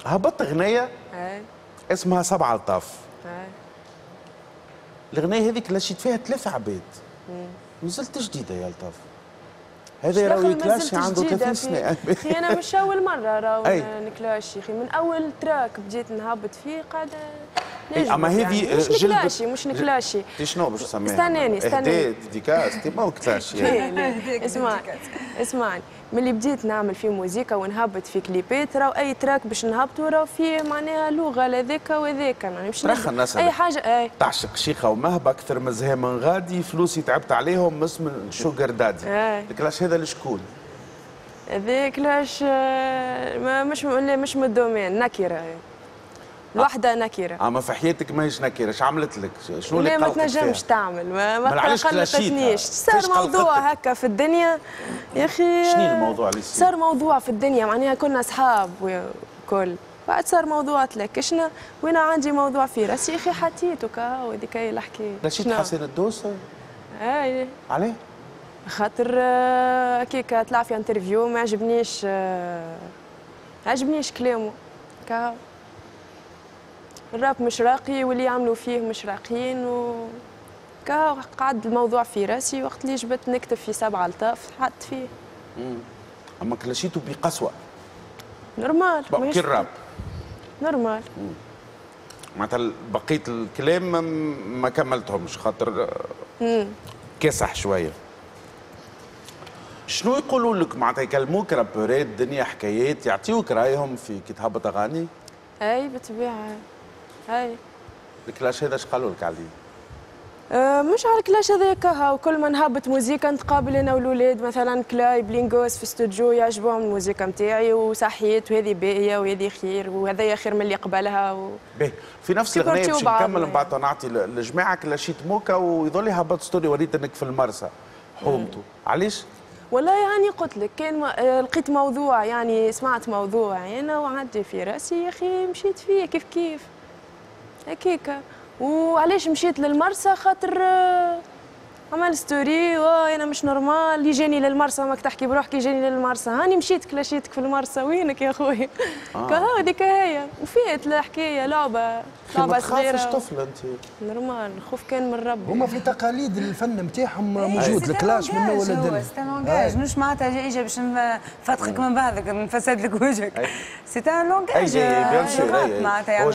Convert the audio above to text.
هبطت اغنية اسمها سبعة الطاف. الاغنية هذيك كلاشيت فيها ثلاثة عباد. مازلت جديدة يا الطاف. هذا راهو كلاشي عنده 30 سنة. اخي انا مش اول مرة راهو نكلاشي اخي، من اول track بديت نهبط فيه قاعدة. اما هذه يعني مش نكلاشي، مش نكلاشي. شنو باش تسميها؟ استناني استناني. dédicace ما هو clash يعني. اسمعني اسمعني، ملي بديت نعمل في موزيكا ونهبط في كليبات، راهو اي track باش نهبطوا راهو فيه معناها لغة لذاك وذاك، معناها مش اي حاجة. اي تعشق شيخه ومهبه اكثر من زهاء من غادي، فلوسي تعبت عليهم مش من sugar daddy. ال clash هذا لشكون؟ هذا clash مش مش من ال domaine، نكره الوحدة نكره. اما في حياتك ماهيش نكره، اش عملت لك؟ شنو اللي قلقتك؟ ما تنجمش تعمل، ما قلقتنيش. صار موضوع هكا في الدنيا يا اخي. شنو الموضوع اللي صار؟ موضوع في الدنيا معناها كنا اصحاب وكل، بعد صار موضوع تلكشنا، وانا عندي موضوع في راسي يا اخي حطيته كا هذيك هي الحكاية. كلاشيت حسين الدوسه؟ اي. عليه؟ خاطر هكاك طلع في interview ما عجبنيش، عجبنيش كلامه كا الراب مش راقي واللي يعملوا فيه مش راقيين، و كا قعد الموضوع في راسي. وقت اللي جبت نكتب في سبعة الطاف حط فيه. اما كلاشيتو بقسوه. normal. كي ال rap normal. معناتها بقية الكلام ما كملتهمش خاطر كاسح شوية. شنو يقولوا لك معناتها؟ يكلموك رابورات دنيا حكايات، يعطيوك رايهم في كي تهبط اغاني؟ اي بالطبيعة. اي ال clash هذا اش قالوا لك عليه؟ مش على ال clash هذاك، وكل ما نهبط موزيكا نتقابل انا والولاد، مثلا كلاي بلينغوس في استوديو، يعجبهم الموزيكا نتاعي وصحيت وهذه باهيه وهذه خير وهذا خير من اللي قبلها باهي. في نفس الاغنية باش نكمل من بعد نعطي للجماعة، كلاشيت موكا ويظل هبط story وريت انك في المرسى حومته، علاش؟ والله يعني قلت لك كان لقيت موضوع، يعني سمعت موضوع انا وعدي في راسي يا اخي مشيت فيه كيف كيف هكاكا. وعلاش مشيت للمرسى؟ خاطر عمل story وانا مش normal، اللي جاني للمرسى ماك تحكي بروحك يجاني للمرسى، هاني مشيت كلاشيتك في المرسى وينك يا خويا؟ كهو هذيك هي وفات الحكاية، لعبه لعبه صغيرة. ما تخافش طفله انت؟ normal، الخوف كان من ربي. هما في تقاليد الفن نتاعهم موجود ال clash من اول الدنيا. c'est un langage، مش معناتها اجا باش نفتخك من بعضك نفسد لك وجهك، c'est un langage bien sûr. معناتها.